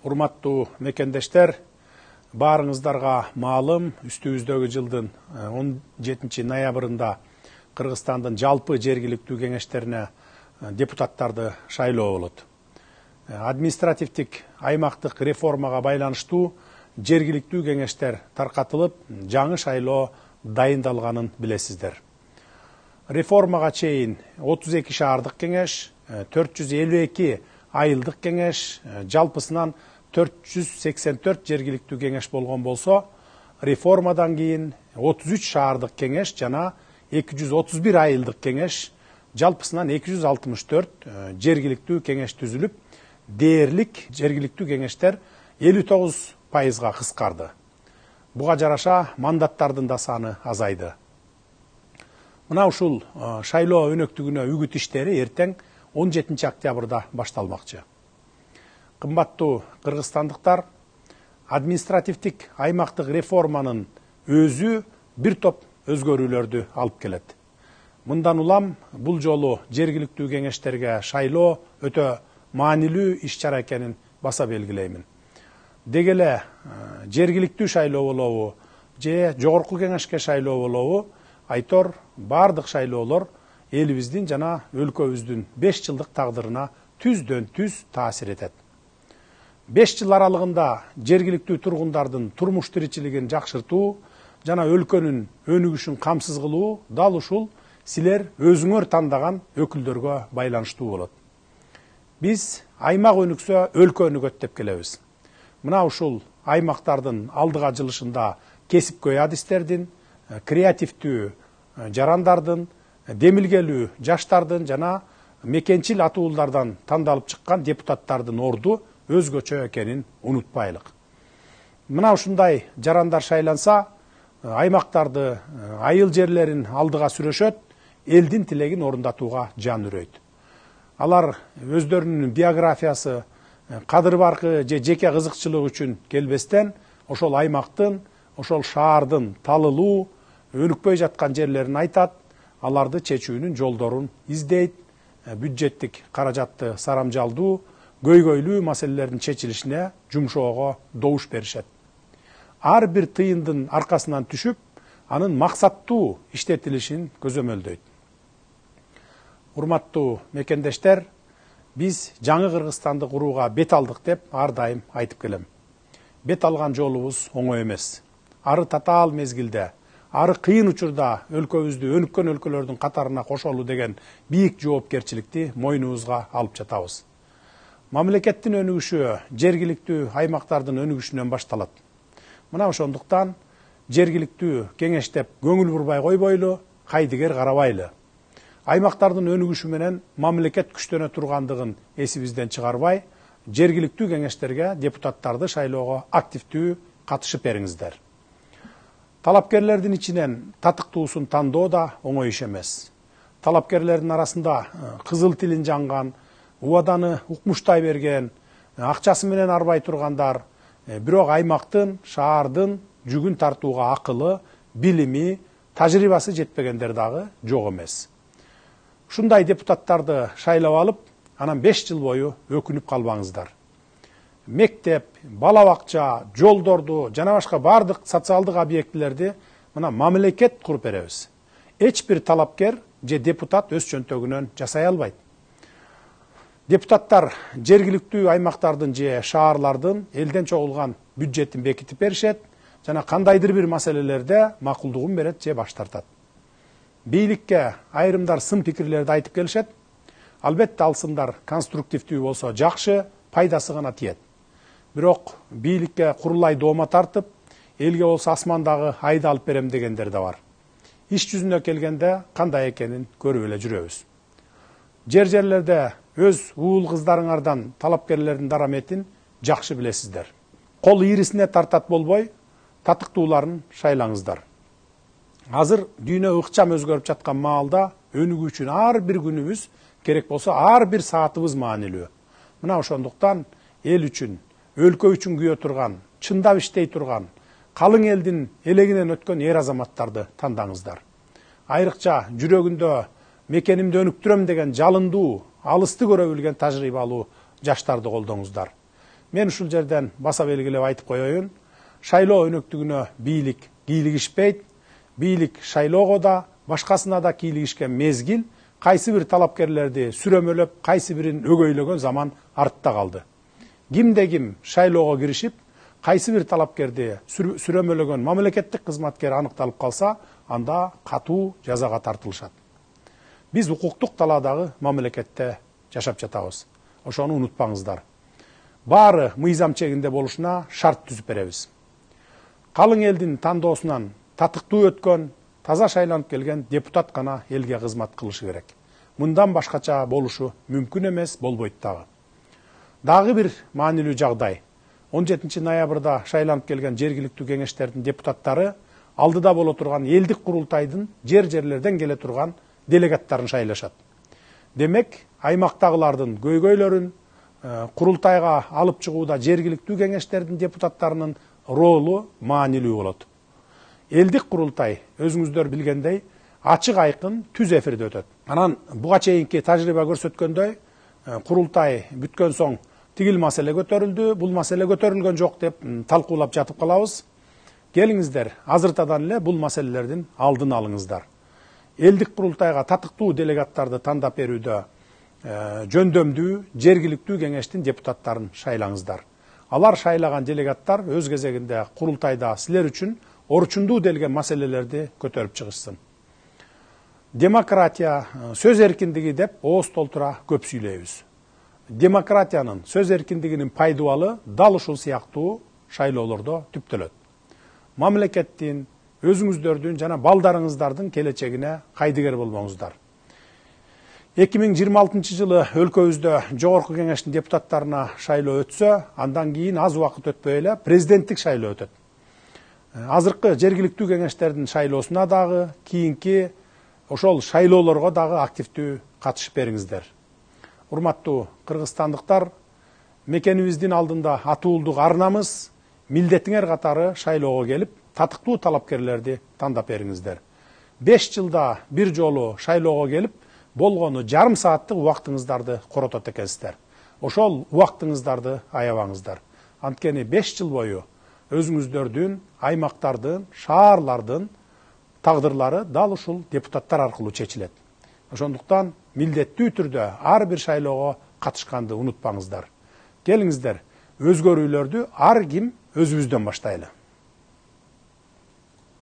Урматтуу мекендештер, баарыңыздарга маалым, үстүбүздөгү жылдын 17 ноябрында Кыргызстандын жалпы жергиликтүү кеңештерине депутаттарды шайлоо болот. Административдик аймактык реформага байланыштуу жергиликтүү кеңештер таркатылып, жаңы шайлоо дайындалганын билесиздер. Реформага чейин 32 шаардык кеңеш, 452 айылдык кеңеш, жалпысынан 484 жергиликтүү кеңеш болгон болсо, реформадан кийин 33 шаардык кеңеш жана 231 айылдык кеңеш, жалпысынан 264 жергиликтүү кеңеш түзүлүп, дээрлик жергиликтүү кеңештер 59%га кыскарды. Буга жараша мандаттардын да саны азайды. Мына ушул шайлоо өнөктүгүнө үгүт иштери эртең 17 октябрда башталмакчы. Кымбаттуу кыргызстандыктар, административдик аймактык реформанын өзү бир топ өзгөрүүлөрдү алып келет. Мындан улам бул жолу жергиликтүү кеңештерге шайлоо өтө маанилүү иш-чара экенин баса белгилеймин. Деги эле жергиликтүү шайлоо болобу же жогорку кеңешке шайлоо болобу, айтор бардык шайлоолор элибиздин жана өлкөбүздүн 5 жылдык тагдырына түздөн түз таасир этет. 5 жыл аралыгында жергиликтүү тургундардын турмуш тиричилигин жакшыртуу жана өлкөнүн өнүгүшүн камсыз кылуу дал ушул силер өзүңөр тандаган өкүлдөргө байланыштуу болот. Биз аймак өнүксө өлкө өнүгөт деп келебиз. Мына ушул аймактардын алдыга жылышында кесипкөй адистердин, креативдүү жарандардын, демилгелүү жаштардын жана мекенчил атуулардан тандалып чыккан депутаттардын орду өзгөчө экенин унутпайлык. Мына ушундай жарандар шайланса, аймактарды, айыл жерлерин алдыга сүрөшөт, элдин тилегин орундатууга жан үрөйт. Алар өздөрүнүн биографиясы, кадыр баркы же жеке кызыкчылык үчүн келбестен, ошол аймактын, ошол шаардын талылуу, өнүкпөй жаткан жерлерин айтат, аларды чечүүнүн жолдорун издейт, бюджеттик каражатты сарамжалдуу, көйгөйлүү маселелердин чечилишине жумшоого добуш беришет. Ар бир тыйындын аркасынан түшүп, анын максаттуу иштетилишин көзөмөлдөйт. Урматтуу мекендештер, биз жаңы Кыргызстанды курууга бет алдык деп ар дайым айтып келем. Бет алган жолубуз оңой эмес. Ары татаал мезгилде, ары кыйын учурда өлкөбүздү өнүккөн өлкөлөрдүн катарына кошолуу деген бийик жоопкерчиликти мойнубузга алып жатабыз. Мамлекеттин өнүгүшү жергиликтүү аймактардын өнүгүшүнөн башталат. Мына ошондуктан жергиликтүү кеңештеп көңүл бурбай койбойлу, кайдыгер карабайлы. Аймактардын өнүгүшү менен мамлекет күчтөнө тургандыгын эсибизден чыгарбай, жергиликтүү кеңештерге депутаттарды шайлоого активдүү катышып бериңиздер. Талапкерлердин ичинен татыктуусун тандоо да оңой иш эмес. Талапкерлердин арасында кызыл тилин жанган, убаданы укмуштай берген, акчасы менен арбай тургандар, бирок аймактын, шаардын жүгүн тартууга акылы, билими, тажрыйбасы жетпегендер дагы жок эмес. Ушундай депутаттарды шайлап алып, анан 5 жыл бою өкүнүп калбаңыздар. Мектеп, бала бакча, жолдорду жана башка бардык социалдык объектилерди мына мамлекет куруп беребиз. Эч бир талапкер же депутат өз чөнтөгүнөн жасай албайт. Депутаттар жергиликтүү аймактардын же шаарлардын элден чогулган бюджетин бекитип беришет жана кандайдыр бир маселелерде макулдугун берет же баш тартат. Бийликке айрымдар сын пикирлерди айтып келишет. Албетте ал сындар конструктивдүү болсо жакшы, пайдасы гана тиет. Бирок бийликке курулай доoma тартып, элге болсо асмандагы айды алып берем дегендер да бар. Иш жүзүнө келгенде кандай экенин көрүп эле жүрөбүз. Жерлерде өз уул кыздарыңардан талапкерлердин дараметин жакшы билесиздер. Кол ийрисине тартат болбой, татыктууларын шайлаңыздар. Азыр дүйнө ыкчам өзгөрүп жаткан маалда өнүгүү үчүн ар бир күнүбүз, керек болсо ар бир саатыбыз маанилүү. Мына ошондуктан эл үчүн, өлкө үчүн күйө турган, чындап иштей турган, калың элдин элегинен өткөн эр азаматтарды тандаңыздар. Айрыкча жүрөгүндө мекенимди өнүктүрөм деген жалындуу, алысты көрө билген тажрыйбалуу жаштарды колдоңуздар. Мен ушул жерден баса белгилеп айтып коеюн. Шайлоо өнөктүгүнө бийлик кийлигишпейт. Бийлик шайлоого да, башкасына да кийлигишкен мезгил кайсы бир талапкерлерди сүрөмөлөп, кайсы бирин өгөйлөгөн заман артта калды. Кимде ким шайлоого киришип, кайсы бир талапкерди сүрөмөлөгөн мамлекеттик кызматкер аныкталып калса, анда катуу жазага тартылышат. Биз укуктук талаадагы мамлекетте жашап жатабыз. Ошону унутпаңыздар. Баары мыйзам чегинде болушуна шарт түзүп беребиз. Калың элдин тандоосунан татыктуу өткөн, таза шайланып келген депутат гана элге кызмат кылышы керек. Мындан башкача болушу мүмкүн эмес, болбойт дагы. Дагы бир маанилүү жагдай. 17 ноябрда шайланып келген жергиликтүү кеңештердин депутаттары алдыда боло турган элдик курултайдын жерлерден келе турган делегаттарын шайлашат. Демек, аймактагылардын көйгөйлөрүн курултайга алып чыгууда жергиликтүү кеңештердин депутаттарынын ролу маанилүү болот. Элдик курултай, өзүңүздөр билгендей, ачык айкын түз эфирде өтөт. Анан буга чейинки тажрыйба көрсөткөндөй, курултай бүткөн соң тигил маселе көтөрүлдү, бул маселе көтөрүлгөн жок деп талкуулап жатып калабыз. Келиңиздер, азыртадан эле бул маселелердин алдын алыңыздар. Элдик курултайга татыктуу делегаттарды тандап берүүдө жөндөмдүү жергиликтүү кеңештин депутаттарын шайлаңыздар. Алар шайлаган делегаттар өз кезегинде курултайда силер үчүн орчундуу делген маселелерди көтөрүп чыгышсын. Демократия, сөз эркиндиги деп ооз толтура көп сүйлөйбүз. Демократиянын, сөз эркиндигинин пайдубалы дал ушул сыяктуу шайлоолордо түптөлөт. Мамлекеттин, өзүңүздөрдүн жана балдарыңыздардын келечегине кайдыгер болмоңуздар. 2026 жылы өлкөбүздө жогорку кеңештин депутаттарына шайлоо өтсө, андан кийин аз убакыт өтпөй эле президенттик шайлоо өтөт. Азыркы жергиликтүү кеңештердин шайлоосуна дагы, кийинки ошол шайлоолорго дагы активдүү катышып бериңиздер. Урматтуу кыргызстандыктар, мекенибиздин алдында атуулдук арнамыз, милдетиңер катары шайлоого келип, татыктуу талапкерлерди тандап бериңиздер. 5 жылда бир жолу шайлоого келип, болгону жарым сааттык убактыңыздарды коротот экенсиздер. Ошол убактыңыздарды аябаңыздар. Анткени 5 жыл бою өзүңүздөрдүн, аймактардын, шаарлардын тагдырлары дал ушул депутаттар аркылуу чечилет. Ошондуктан милдеттүү түрдө ар бир шайлоого катышканды унутпаңыздар. Келиңиздер, өзгөрүүлөрдү ар ким өзүбүздөн баштайлы.